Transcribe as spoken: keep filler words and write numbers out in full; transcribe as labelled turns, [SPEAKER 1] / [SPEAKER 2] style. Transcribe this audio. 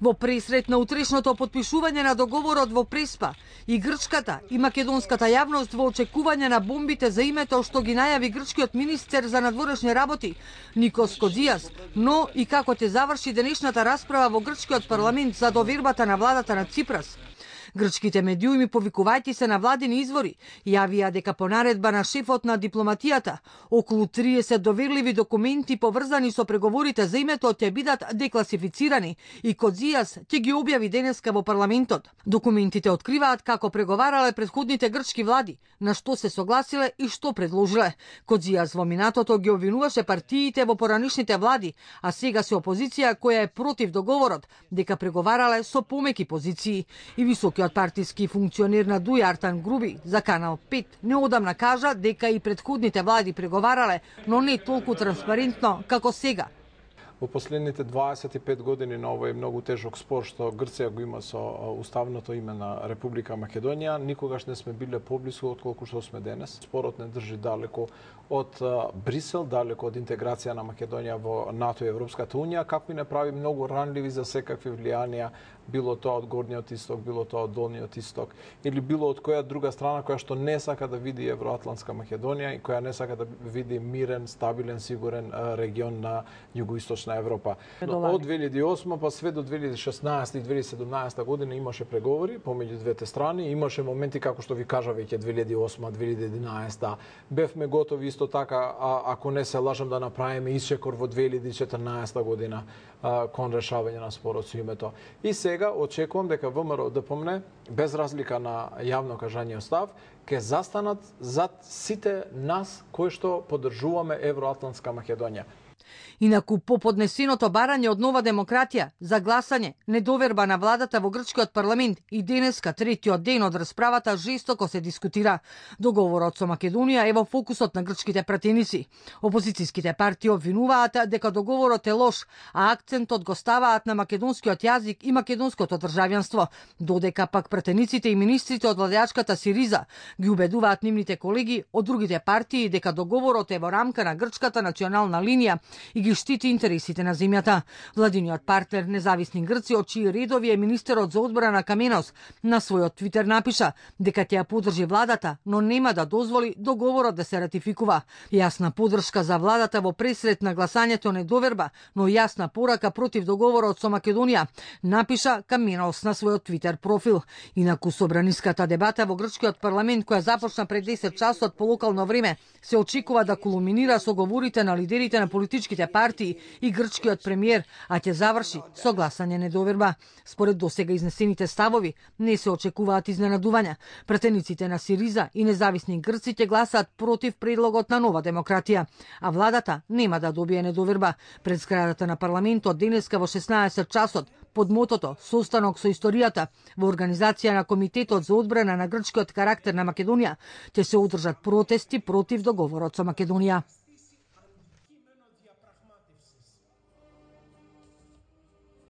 [SPEAKER 1] Во пресрет на утрешното потпишување на договорот во Преспа, и грчката и македонската јавност во очекување на бомбите за името што ги најави грчкиот министер за надворешни работи Никос Кодзијас, но и како ќе заврши денешната расправа во грчкиот парламент за довербата на владата на Ципрас. Грчките медиуми, повикувајќи се на владини извори, јавија дека по наредба на шефот на дипломатијата, околу триесет доверливи документи поврзани со преговорите за името ќе бидат декласифицирани и Кодзијас ќе ги објави денеска во парламентот. Документите откриваат како преговарале претходните грчки влади, на што се согласиле и што предложиле. Кодзијас во минатото ги обвинуваше партиите во поранишните влади, а сега се опозиција која е против договорот, дека преговарале со помеки позиции. И високиот партиски функционер на Дуј Артан Груби за Канал пет неодамна кажа дека и претходните влади преговарале, но не толку транспарентно како сега.
[SPEAKER 2] Во последните дваесет и пет години на овој многу тежок спор што Грција го има со уставното име на Република Македонија, никогаш не сме биле поблиску отколку што сме денес. Спорот не држи далеко од Брисел, далеко од интеграција на Македонија во НАТО и Европската унија, како и не прави многу ранливи за секакви влијанија, било тоа од горниот исток, било тоа од долниот исток, или било од која друга страна која што не сака да види евроатлантска Македонија и која не сака да види мирен, стабилен, сигурен регион на југоисточна Европа. Но од две илјади и осма па све до две илјади и шеснаесета и две илјади и седумнаесета година имаше преговори помеѓу двете страни, имаше моменти како што ви кажа веќе две илјади и осма, две илјади и единаесета, бевме готови исто така, а, ако не се лажам, да направиме исчекор во две илјади и четрнаесета година а, кон решавање на спорот со името. И сега очекувам дека ВМРО ДПМН, без разлика на јавно кажаниот став, ќе застанат зад сите нас кои што поддржуваме евроатлантска Македонија.
[SPEAKER 1] Инаку, по поднесеното барање од Нова демократија за гласање недоверба на владата во грчкиот парламент и денеска, третиот ден од расправата, жестоко се дискутира. Договорот со Македонија е во фокусот на грчките пратеници. Опозицијските партии обвинуваат дека договорот е лош, а акцентот го ставаат на македонскиот јазик и македонското државјанство, додека пак пратениците и министрите од владеачката Сириза ги убедуваат нивните колеги од другите партии дека договорот е во рамка на грчката национална линија и ги штити интересите на земјата. Владиниот партнер Независни Грци, од чии редови е министерот за одбрана Каменос, на својот твитер напиша дека ќе ја поддржи владата, но нема да дозволи договорот да се ратификува. Јасна поддршка за владата во пресрет на гласањето недоверба, но јасна порака против договорот со Македонија, напиша Каменос на својот твитер профил. Инаку собраниската дебата во грчкиот парламент, која започна пред десет часот по локално време, се очекува да кулминира со говорите на лидерите на политичките партии и грчкиот премиер, а ќе заврши со гласање недоверба. Според досега изнесените ставови, не се очекуваат изненадувања. Пратениците на Сириза и Независни Грци ќе гласаат против предлогот на Нова демократија, а владата нема да добие недоверба. Пред зградата на парламентот денеска во шеснаесет часот, под мотото "Состанок со историјата" во организација на Комитетот за одбрана на грчкиот карактер на Македонија, ќе се одржат протести против договорот со Македонија.